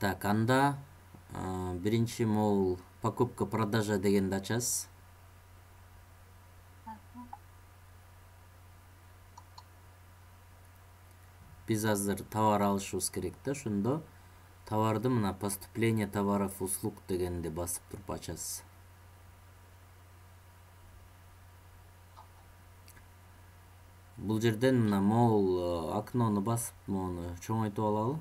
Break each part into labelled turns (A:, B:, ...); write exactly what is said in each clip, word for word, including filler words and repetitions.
A: Так, анда биринчи могул покупка продажа дегенди ачасыз. Биз азыр товар алышыбыз керек да, ошондо товарды мына поступление товаров услуг дегенди басып туруп ачасыз. Бул жерден мына могул окнону басып, мону чоңойтуп алалы.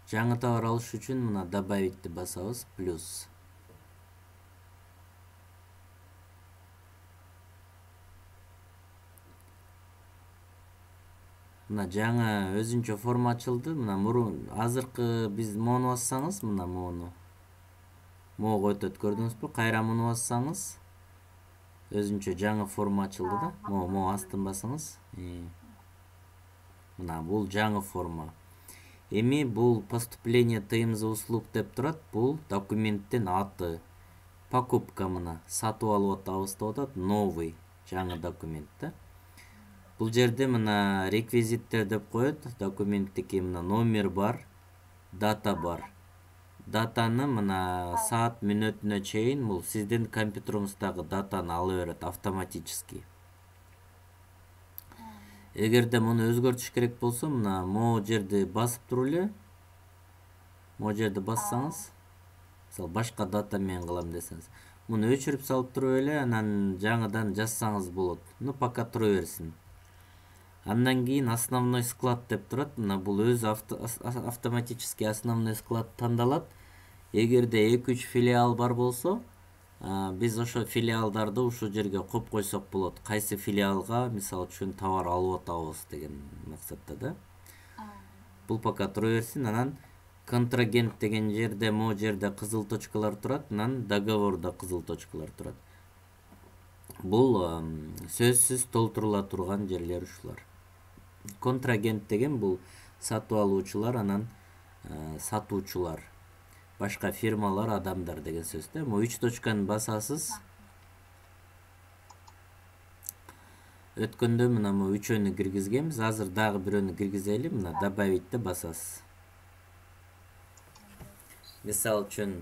A: Жаңы товар алыш үчүн мына добавитти басабыз, плюс. Мына жаңы өзүнчө форма ачылды. Мына мурун азыркы биз мону бассаңыз, мына мону. Могу өтөт, көрдүңүзбү? Кайра муну бассаңыз, өзүнчө жаңы форма ачылды да. Могу могу астын басыңыз. Мына бул жаңы форма. Эми бул поступление тыйым за услуг деп турат. Бул документтин аты. Покупка мына сатып алып атабыз деп атат. Новый, жаңы документ да. Бул жерде мына реквизиттер деп коет. Документтики мына номер бар, дата бар. Датаны мына саат мүнөтүнө чейин бул сиздин компьютериңиздагы датаны ала берет автоматически. Эгерде муну өзгөртүш керек болсо, мына могу жерди басып туруп эле, могу жерди бассаңыз, мисалы башка дата менен кылам десеңиз, муну өчүрүп салып туруп эле, анан жаңыдан жазсаңыз болот. Ну пока тура берсин. Андан кийин основной склад деп турат. Мына бул өзү автоматически основной склад тандалат. Эгерде эки үч филиал бар болсо, биз ошо филиалдарды ушул жерге коюп койсок болот. Кайсы филиалга, мисалы үчүн, товар алып атабыз деген максатта да. Бул пока тура берсин. Анан контрагент деген жерде, могу жерде кызыл точкалар турат, анан договорда кызыл точкалар турат. Бул сөзсүз толтурула турган жерлер ушулар. Контрагент деген бул сатып алуучулар, анан сатуучулар, башка фирмалар, адамдар деген сөз да. Могу үч точканы басасыз. Өткөндө мына могу үчөөнү киргизгенбиз. Азыр дагы бирөөнү киргизели. Мына добавитти басасыз. Мисалы үчүн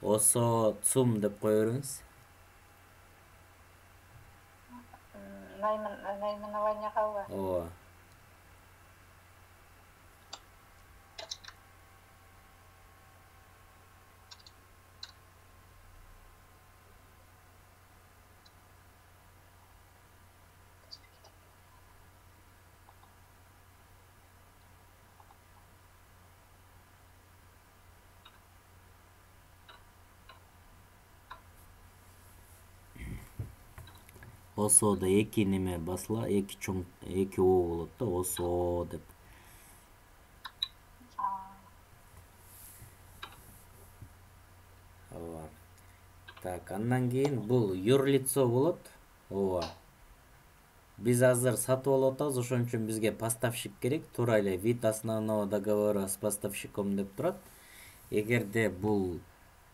A: осо цум деп кое бериңиз.
B: Наименование калбы?
A: Ооба. Осоодо эки неме басыла, эки чоң, эки о болот да, осо деп. Ооба. Так, андан кийин бул юрлицо болот. Ооба. Биз азыр сатып алып атабыз, ошон үчүн бизге поставщик керек. Туура эле вид основного договора с поставщиком деп турат. Эгерде бул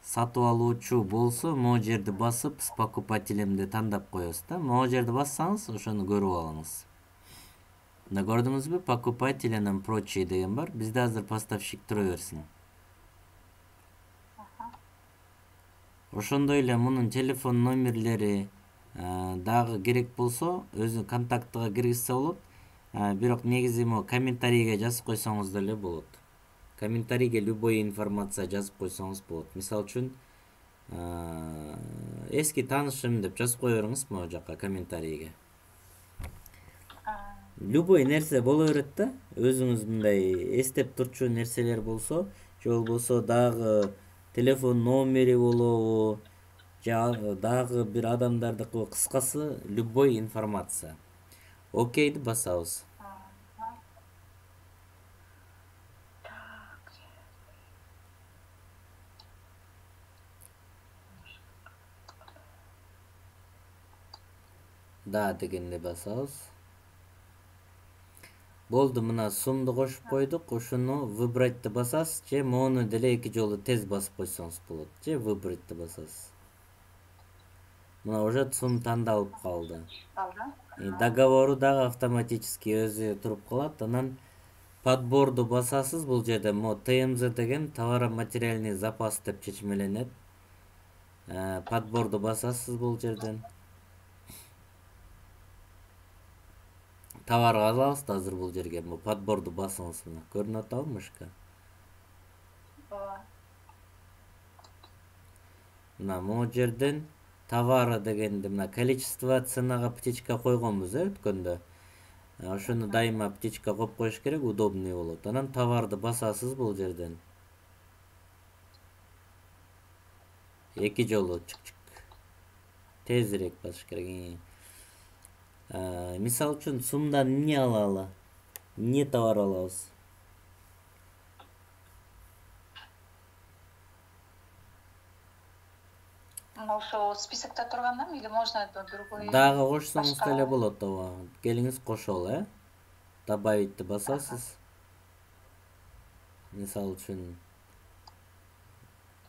A: сатып алуучу болсо, могу жерди басып, с покупателемди тандап коебуз да. Могу жерди бассаңыз, ошону көрүп алыңыз. Мына көрдүңүзбү? Покупатель анан прочие деген бар. Бизде азыр поставщик тура берсин. Ошондой эле мунун телефон номерлери дагы керек болсо, өзү контактыга киргизсе болот. Бирок негизи могу комментарийге жазып койсоңуз деле болот. Комментарийге любой информация жазып койсоңуз болот. Мисалы үчүн, эски таанышым деп жазып кое бериңиз могу жака комментарийге. Любой нерсе боло берет да. Өзүңүз мындай эстеп турчу нерселер болсо, же болбосо дагы телефон номери болобу, же дагы бир адамдардыкы, кыскасы любой информация. Окейди басабыз. Да дегенде басабыз. Болду, мына сумду кошуп койдук. Ошону выбрать басасыз, же мону деле эки жолу тез басып койсоңуз болот, же выбрать басасыз. Мына уже сум тандалып калды.
B: Алды.
A: Договору дагы автоматически өзү туруп калат. Анан подборду басасыз бул жерде. Мо Т М З деген товаро-материальный запас деп чечмеленет. Подборду басасыз бул жерден. Товарга алабыз да азыр бул жерге. Мо подборду басыңыз мына. Көрүнүп атабы мышка?
B: Ооба.
A: Мына могу жерден товары дегенди мына количество ценага птичка койгонбуз э өткөндө. Ошону дайыма птичка коюп коюш керек, удобный болот. Анан товарды басасыз бул жерден. Эки жолу чык-чык. Тезирээк басыш керек. Мисалы үчүн сумдан эмне алалы? Эмне товар алабыз?
B: Ошо списокто тургандамы или можно другой?
A: Дагы кошсоңуз деле болот, ооба. Келиңиз кошолу, э? Добавитти басасыз. Мисалы үчүн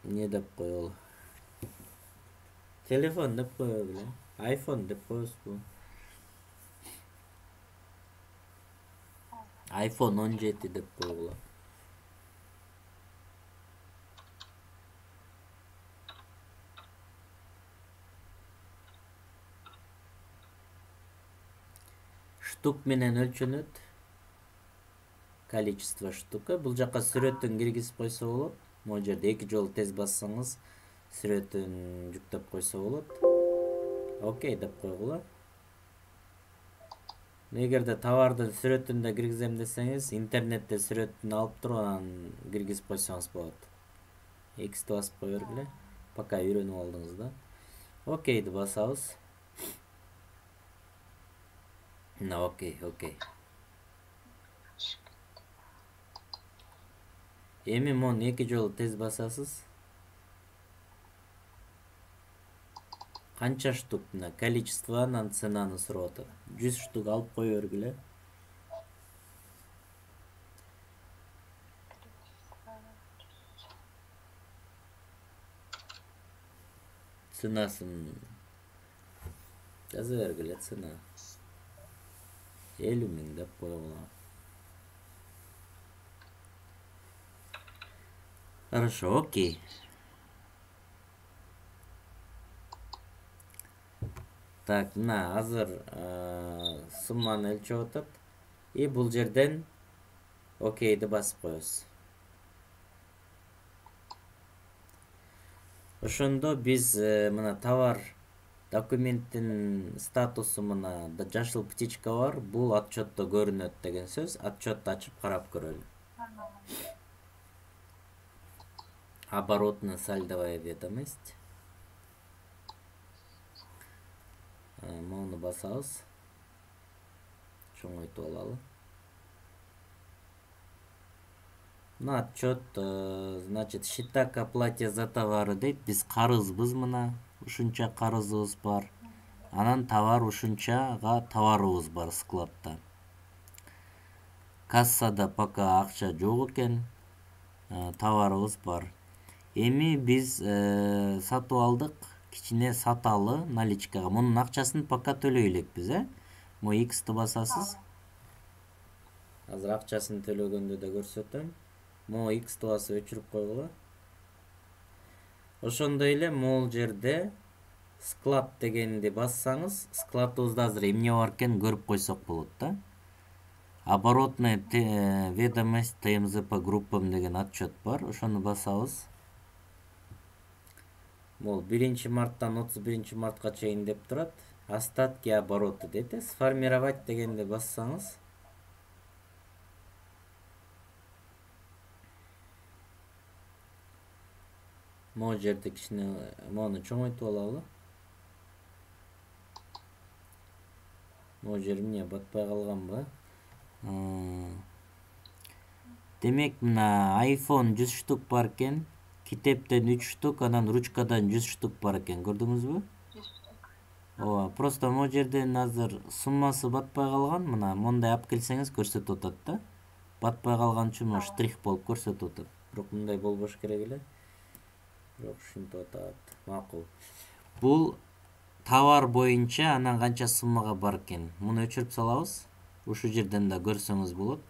A: эмне деп коелу? Телефон деп кое белем. iPhone деп коесузбу? iPhone он жети деп койгула. Штук менен өлчөнөт. Количество штука. Бул жака сүрөтүн киргизип койсо болот. Могу жерде эки жолу тез бассаңыз сүрөтүн жүктөп койсо болот. Окей деп койгула. Эгерде товардын сүрөтүн да киргизем десеңиз, интернетте сүрөтүн алып туруп анан киргизип койсоңуз болот. X'ти басып кое бергиле. Пока үйрөнүп алдыңыз да. Окейди басабыз. На, окей, окей. Эми мону эки жолу тез басасыз. Канча штук мына количество анан ценаны сурап атат. жүз штук алып кое бергиле. Ценасын жаза бергиле, цена. элүү миң деп койгула. Хорошо, окей. Так, мына азыр сумманы өлчөп атат. И бул жерден окейди басып коебуз. Ошондо биз мына товар документтин статусу мына жашыл птичка бар. Бул отчетто көрүнөт деген сөз. Отчетты ачып карап көрөлү. Оборотная сальдовая ведомость. Мону басабыз. Чоңойтуп алалы. Мына отчет, значит, счета к оплате за товары дейт. Биз карызбыз мына. Ушунча карызыбыз бар. Анан товар ушунчага товарыбыз бар складта. Кассада пока акча жок экен. Товарыбыз бар. Эми биз сатып алдык. Кичине саталы наличкага. Мунун акчасын пока төлөй элекпиз, э? Мо X'ти басасыз. Азыр акчасын төлөгөндө да көрсөтөм. Мо X'ти басып өчүрүп койгула. Ошондой эле могул жерде склад дегенди бассаңыз, складыбызда азыр эмне бар экен көрүп койсок болот да. Оборотная ведомость Т М З по группам деген отчет бар. Ошону басабыз. Мол биринчи марттан отуз биринчи мартка чейин деп турат. Остатки оборота дейт. Сформировать дегенди бассаңыз. Могу жерде кичине мону чоңойтуп алалы. Могу жер эмне батпай калганбы? Демек мына iPhone жүз штук бар экен. Китептен үч штук, анан ручкадан жүз штук бар экен. Көрдүңүзбү? Ооба, просто могу жерден азыр суммасы батпай калган. Мына мондай алып келсеңиз көрсөтүп атат да. Батпай калган үчүн mo штрих болуп көрсөтүп атат. Бирок мындай болбош керек эле. Бирок ушинтип атат. Макул. Бул товар боюнча анан канча суммага бар экен. Муну өчүрүп салабыз. Ушул жерден да көрсөңүз болот.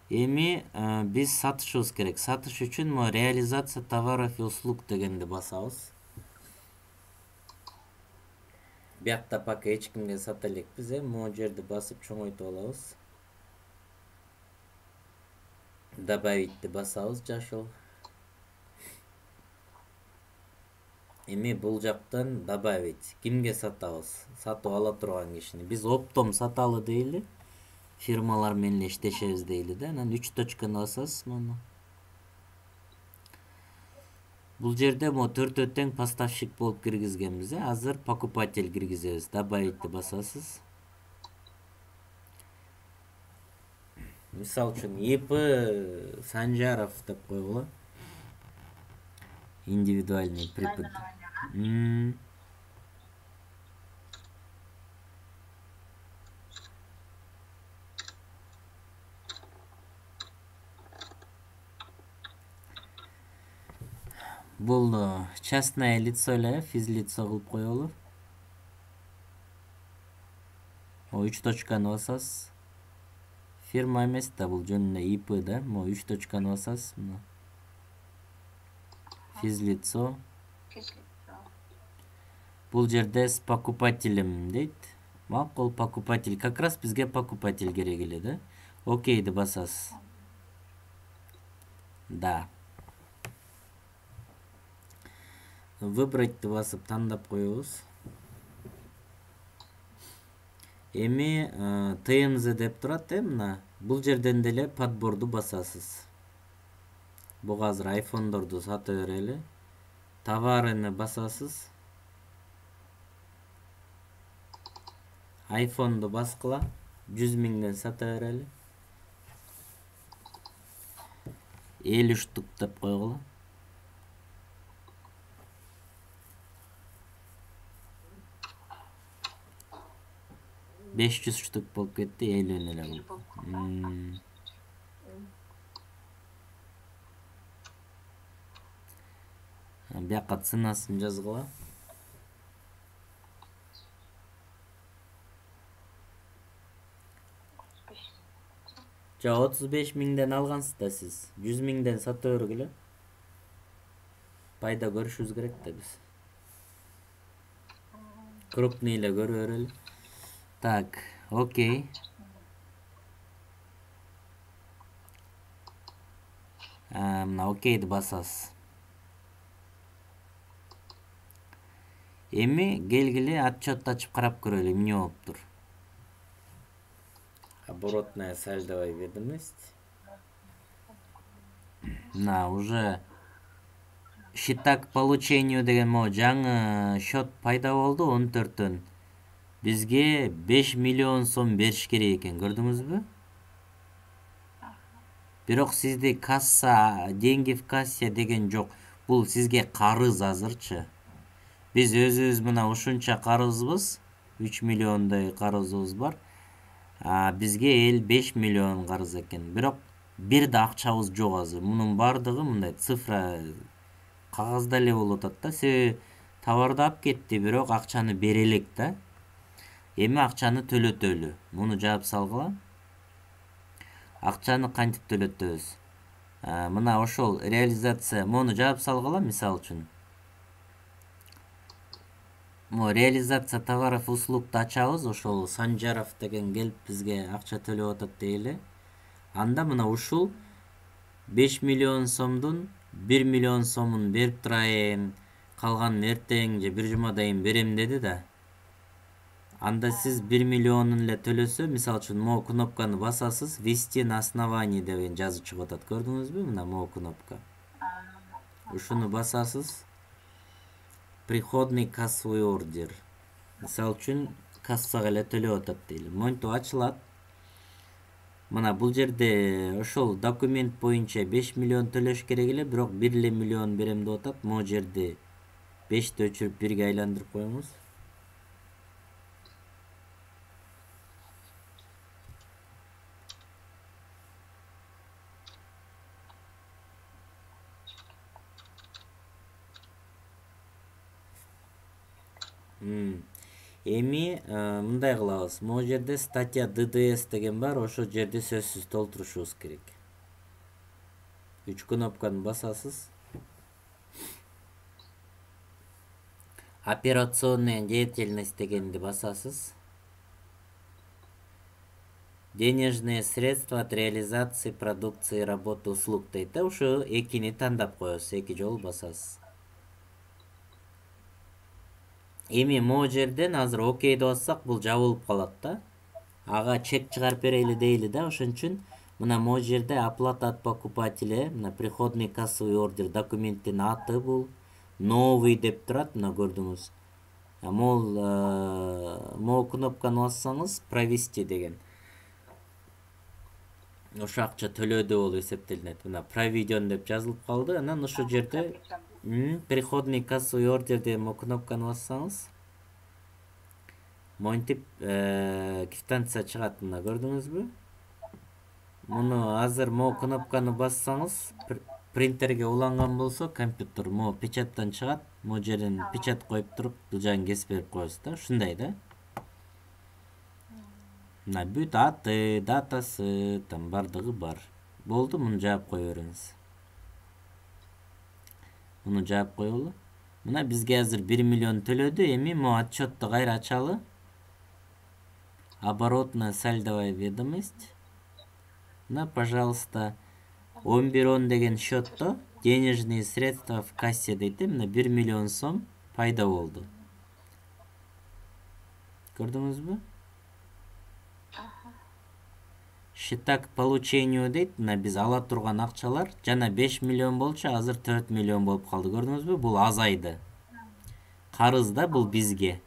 A: Эми биз сатышыбыз керек. Сатыш үчүн мо реализация товаров и услуг дегенди басабыз. Биякта пока эч кимге сата элекпиз, э, могу жерди басып чоңойтуп алабыз. Добавитти басабыз жашыл. Эми бул жактан добавить. Кимге сатабыз? Сатып ала турган кишини. Биз оптом саталы дейли. Фирмалар менен иштешебиз дейли да. Анан үч точканы басасыз муну. Бул жерде мо төртөө тең поставщик болуп киргизгенбиз, э. Азыр покупатель киргизебиз. Добавитти басасыз. Мисал үчүн ИП Санжаров деп койгула. Индивидуальный прибыль. М. Бул частное лицо эле, физлицо кылып коелу. О үч точканы басасыз. Фирма эмес да, бул жөн эле ИП да. Мо үч точканы басасыз. Мына. Физлицо. Бул жерде с покупателем дейт. Макул, покупатель. Как раз бизге покупатель керек эле да. Окейди басасыз. Да. Выбрать басып тандап коебуз. Эми ТМЗ деп турат, э, мына. Бул жерден деле подборду басасыз. Буга азыр айфондорду сата берели. Товарыны басасыз. Айфонду баскыла. жүз миңден сата берели. элүү штук деп койгула. беш жүз штук болуп кетти, элүүнү эле бул. Бияка ценасын жазгыла. Жа отуз беш миңден алгансыз да сиз. жүз миңден сата бергүлө. Пайда көрүшүбүз керек да биз. Крупный эле көрө берели. Так, окей. А, мына окейди басасыз. Эми келгиле отчет ачып карап көрөлү, эмне болуптур. Оборотная сальдовая ведомость. На, уже счета к получению деген мо жаңы счет пайда болду он төрттөн. Бизге беш миллион сом бериш керек экен, көрдүңүзбү? Бирок сизде касса, деньги в кассе деген жок. Бул сизге карыз азырчы. Биз өзүбүз мына ушунча карызбыз, үч миллиондой карызыбыз бар. А бизге эл беш миллион карыз экен. Бирок бир да акчабыз жок азыр. Мунун бардыгы мындай цифра кагазда эле болуп атат да. Себеби товарды алып кетти, бирок акчаны бере элек да. Эми акчаны төлөтөлү. Муну жаап салгыла. Акчаны кантип төлөтөбүз? Мына ошол реализация, муну жаап салгыла, мисал үчүн. Мо реализация товаров услугду ачабыз, ошол Санжаров деген келип бизге акча төлөп атат дейли. Анда мына ушул беш миллион сомдун бир миллион сомун берип турайын, калганын эртең же бир жумадан берем деди да. Анда сиз бир миллионун эле төлөсө, мисал үчүн могу кнопканы басасыз, ввести на основании деген жазып чыгып атат. Көрдүңүзбү? Мына могу кнопка. Ушуну басасыз. Приходный кассовый ордер. Мисал үчүн кассага эле төлөп атат дейли. Монтип ачылат. Мына бул жерде ошол документ боюнча беш миллион төлөш керек эле, бирок бир эле миллион берем деп атат. Могу жерде бешти өчүрүп бирге айландырып коюңуз. Эми мындай кылабыз. Могу жерде статья ди ди эс деген бар, ошол жерди сөзсүз толтурушубуз керек. Үч кнопканы басасыз. Операционная деятельность дегенди басасыз. Денежные средства от реализации продукции, работы, услуг дейт. Ошо экини тандап коесуз, эки жолу басасыз. Эми могу жерден азыр окей деп бассак, бул жабылып калат да. Ага чек чыгарып берели дейли да, ошон үчүн мына могу жерде оплата от покупателя, мына приходный кассовый ордер документтин аты бул новый деп турат, мына көрдүңүз. Могул могу кнопканы бассаңыз провести деген. Ошо акча төлөдү болуп эсептелинет. Мына проведен деп жазылып калды. Анан ошол жерде приходный кассовый ордер деген кнопканы бассаңыз, монтип квитанция чыгат, мына көрдүңүзбү? Муну азыр могу кнопканы бассаңыз, принтерге уланган болсо компьютер могу печаттан чыгат. Могу жерден печат коюп туруп, бул жагын кесип берип коесуз да, ушундай да. Мына бүт аты, датасы, там бардыгы бар. Болду, муну жаап кое бериңиз. Муну жаап коелу. Мына бизге азыр бир миллион төлөдү. Эми могу отчетту кайра ачалы. Оборотная сальдовая ведомость. Мына, пожалуйста, он бир он деген счетто денежные средства в кассе дейт. Мына бир миллион сом пайда болду. Көрдүңүзбү? Счета к получению дейт. Мына биз ала турган акчалар жана беш миллион болчу, азыр төрт миллион болуп калды. Көрдүңүзбү? Бул азайды. Карыз да бул бизге.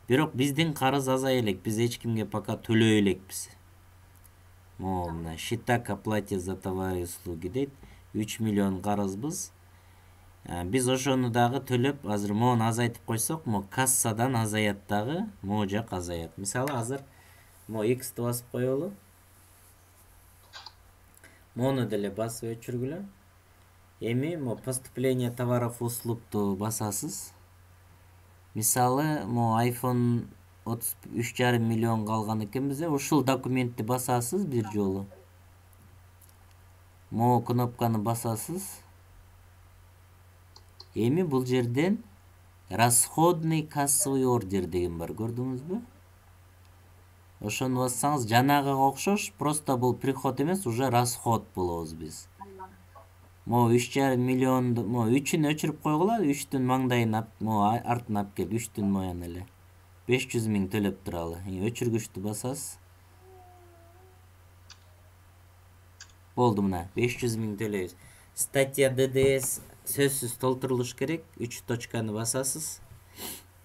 A: Бирок биздин карыз азай элек. Биз эч кимге пока төлөй элекпиз. Могу мына счета к оплате за товары и услуги дейт. үч миллион карызбыз. Биз ошону дагы төлөп, азыр могуну азайтып койсок, могу кассадан азаят дагы, могу жак азаят. Мисалы, азыр могу X'ти басып коелу. Мону деле басып өчүргүлө. Эми могу поступление товаров услугту басасыз. Мисалы, могу iPhone отуз үч жарым миллион калган экен бизде. Ушул документти басасыз бир жолу. Могу кнопканы басасыз. Эми бул жерден расходный кассовый ордер деген бар, көрдүңүзбү? Ошону бассаңыз, жанагыга окшош, просто бул приход эмес, уже расход болобуз биз. Могу үч жарым миллионду, могу үчүн өчүрүп койгула, үчтүн маңдайын могу артына алып кел, үчтүн моян эле. беш жүз миң төлөп туралы. Өчүргүчтү басасыз. Болду, мына беш жүз миң төлөйбүз. Статья ди ди эс сөзсүз толтурулуш керек. үч точканы басасыз.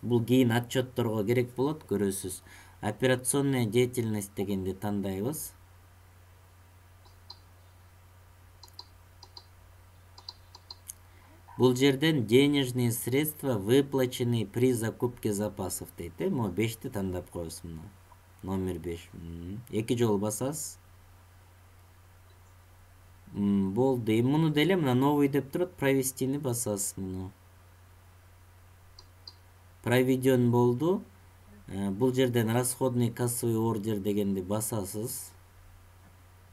A: Бул кийин отчетторго керек болот, көрөсүз. Операционная деятельность дегенди тандайбыз. Бул жерден денежные средства, выплаченные при закупке запасов дейт. Могу бешти тандап коебуз мына. Номер беш. эки жолу басасыз. Болду. Эми муну деле мына новый деп турат, провестини басасыз муну. Проведен болду. Бул жерден расходный кассовый ордер дегенди басасыз.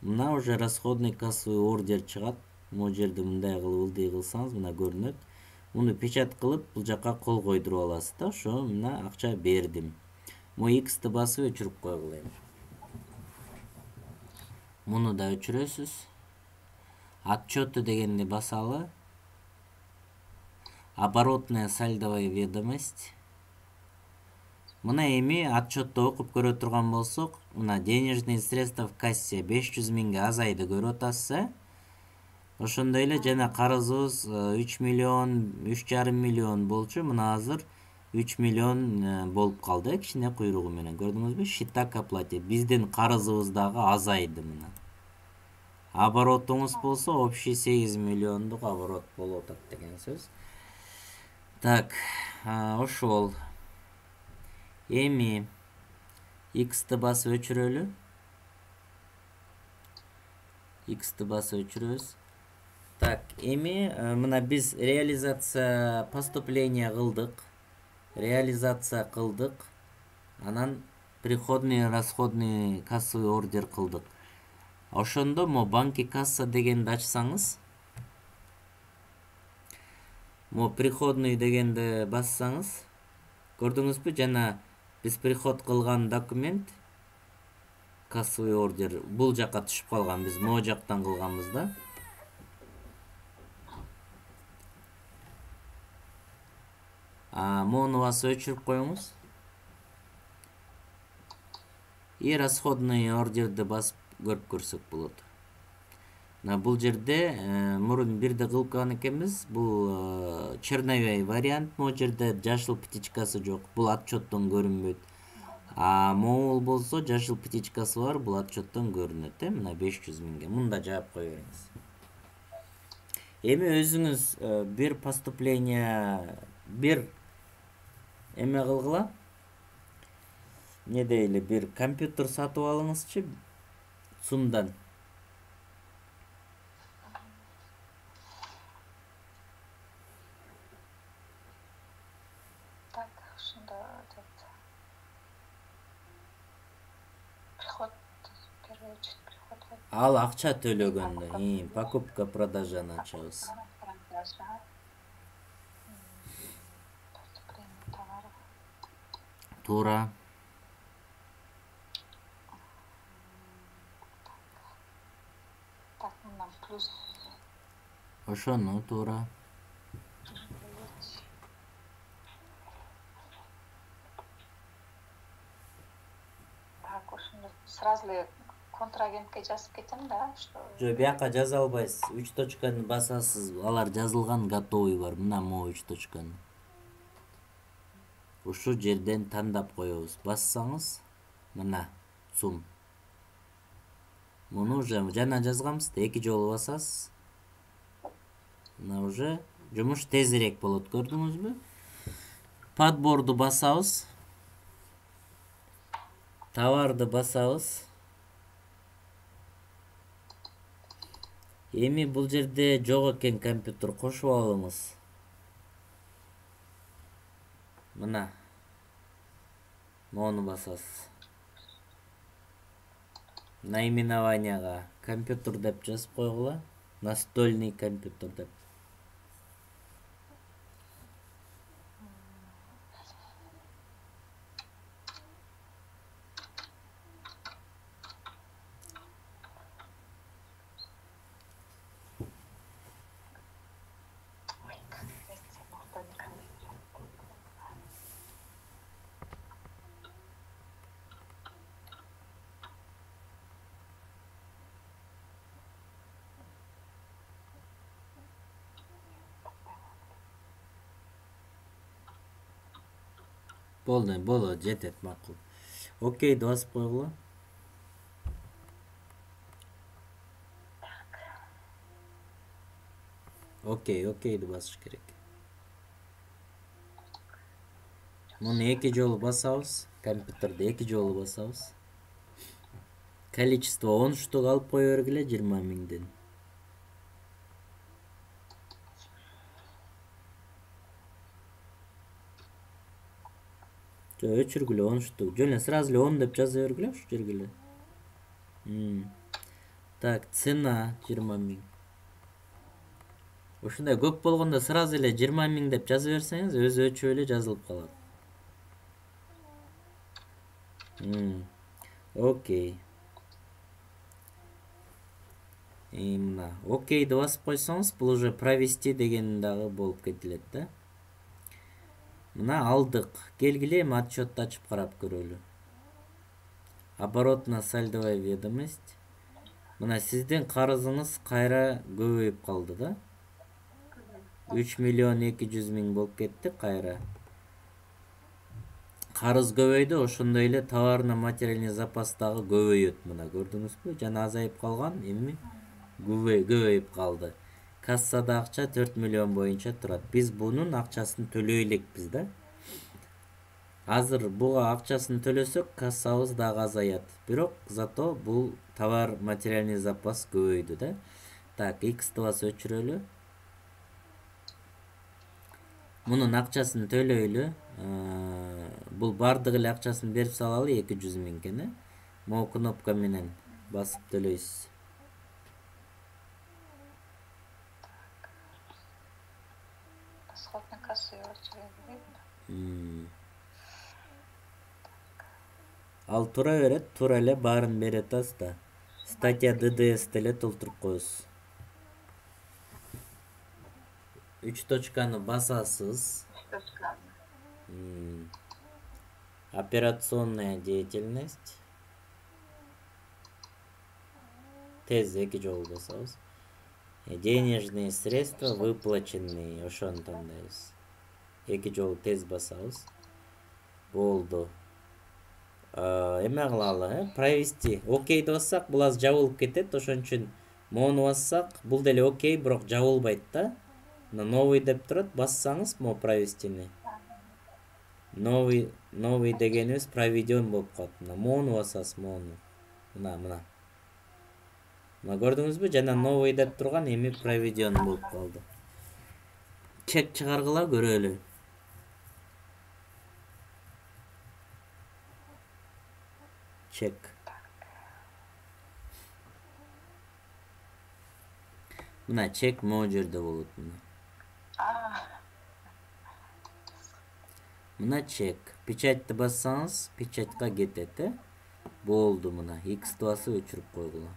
A: Мына уже расходный кассовый ордер чыгат. Могу жерде мындай кылып ылдый кылсаңыз, мына көрүнөт. Муну печат кылып, бул жакка кол койдуруп аласыз да. Ошо мына акча бердим. Могу X'ти басып өчүрүп койгула эми. Муну да өчүрөсүз. Отчеты дегенди басалы. Оборотная сальдовая ведомость. Мына эми отчетто окуп көрө турган болсок, мына денежные средства в кассе беш жүз миңге азайды көрүп атасыз. Ошондой эле жана карызыбыз үч миллион, үч жарым миллион болчу. Мына азыр үч миллион болуп калды, кичине куйругу менен. Көрдүңүзбү? Счета к оплате. Биздин карызыбыз дагы азайды мына. Оборотуңуз болсо, общий сегиз миллиондук оборот болуп атат деген сөз. Так, ошол. Эми X'ти басып өчүрөлү. X'ти басып өчүрөбүз. Так, эми мына биз реализация поступления кылдык. реализация кылдык, анан приходный расходный кассовый ордер кылдык. Ошондо мо банки касса дегенди ачсаңыз, мо приходный дегенди бассаңыз, көрдүңүзбү, жана биз приход кылган документ кассовый ордер бул жакка түшүп калган, биз могу жактан кылганбыз да. А мону басып өчүрүп коюңуз. И расходный ордерди басып көрүп көрсөк болот. Мына бул жерде мурун бирде кылып калган экенбиз. Бул черновой вариант, могу жерде жашыл птичкасы жок. Бул отчеттон көрүнбөйт. А могул болсо жашыл птичкасы бар, бул отчеттон көрүнөт, э, мына беш жүз миңге. Мында жаап кое бериңиз. Эми өзүңүз бир поступление, бир эме кылгыла. Не дейли, бир компьютер сатып алыңызчы сумдан.
B: Так, ушунда этот приход, первый очередь приход.
A: Ал акча төлөгөндө, покупка продажаны ачабыз. Туура.
B: Так, мындан плюс.
A: Ошону туура.
B: Так, ошондо сразу эле контрагентке жазып кетем да, что.
A: Жок, бияка жаза албайсыз. үч точканы басасыз, алар жазылган, готовый бар. Мына могу үч точканы. Ушу жерден тандап коебуз. Бассаңыз, мына сум. Муну уже жана жазганбыз да, эки жолу басасыз. Мына уже жумуш тезирээк болот, көрдүңүзбү? Подборду басабыз. Товарды басабыз. Эми бул жерде жок экен компьютер, кошуп алыңыз. Мына. Мону басасыз. Наименованияга компьютер деп жазып койгула. Настольный компьютер деп. Болду, болот, жетет, макул. Окейди басып койгула. Окей, окейди басыш керек. Муну эки жолу басабыз, компьютерди эки жолу басабыз. Количество он штук алып кое бергиле жыйырма миңден. Жо, өчүргүлө он штук. Жөн эле сразу эле он деп жаза бергиле ушу жерге эле. Так, цена жыйырма миң. Ушундай көп болгондо сразу эле жыйырма миң деп жаза берсеңиз, өзү өчүп эле жазылып калат. Окей. Мына, окейди басып койсоңуз, бул уже провести деген дагы болуп кетилет да. Мына алдык. Келгиле, эми отчетду ачып карап көрөлү. Оборотно-сальдовая ведомость. Мына сиздин карызыңыз кайра көбөйүп калды да. үч миллион эки жүз миң болуп кетти кайра. Карыз көбөйдү, ошондой эле товарно-материальный запас дагы көбөйөт. Мына көрдүңүзбү? Жана азайып калган, эми көбөйүп калды. Кассада акча төрт миллион боюнча турат. Биз бунун акчасын төлөй элекпиз да. Азыр буга акчасын төлөсөк, кассабыз дагы азаят. Бирок зато бул товар материальный запас көбөйдү да. Так, X'ти басып өчүрөлү. Мунун акчасын төлөйлү. Э, бул бардык эле акчасын берип салалы эки жүз миңген э могу кнопка менен басып төлөйсүз.
B: Расходный кассу очереди.
A: М. Ал тура берет, туура эле баарын бере атасыз да. Статья д д с деле толтуруп коесуз. Үч точканы басасыз. М. Операционная деятельность. Тез эки жолу басабыз. Э, Денежные средства выплаченные. Ошону тандайбыз. Эки жолу тез басабыз. Болду. А, эме кылалы, э? Провести. Окейди бассак, бул азыр жабылып кетет. Ошон үчүн моуну бассак, бул деле окей, бирок жабылбайт да. Мына новый деп турат, бассаңыз могу провестини. Новый, новый дегенибиз проведен болуп калат. Мына моуну басасыз, моуну. Мына, мына. Мына көрдүңүзбү? Жана новый деп турган эми проведен болуп калды. Чек чыгаргыла көрөлү. Чек. Мына чек могу жерде болот мына.
B: А,
A: Мына чек. Печатьты бассаңыз, печатька кетет, э? Болду мына. X'ти басып өчүрүп койгула.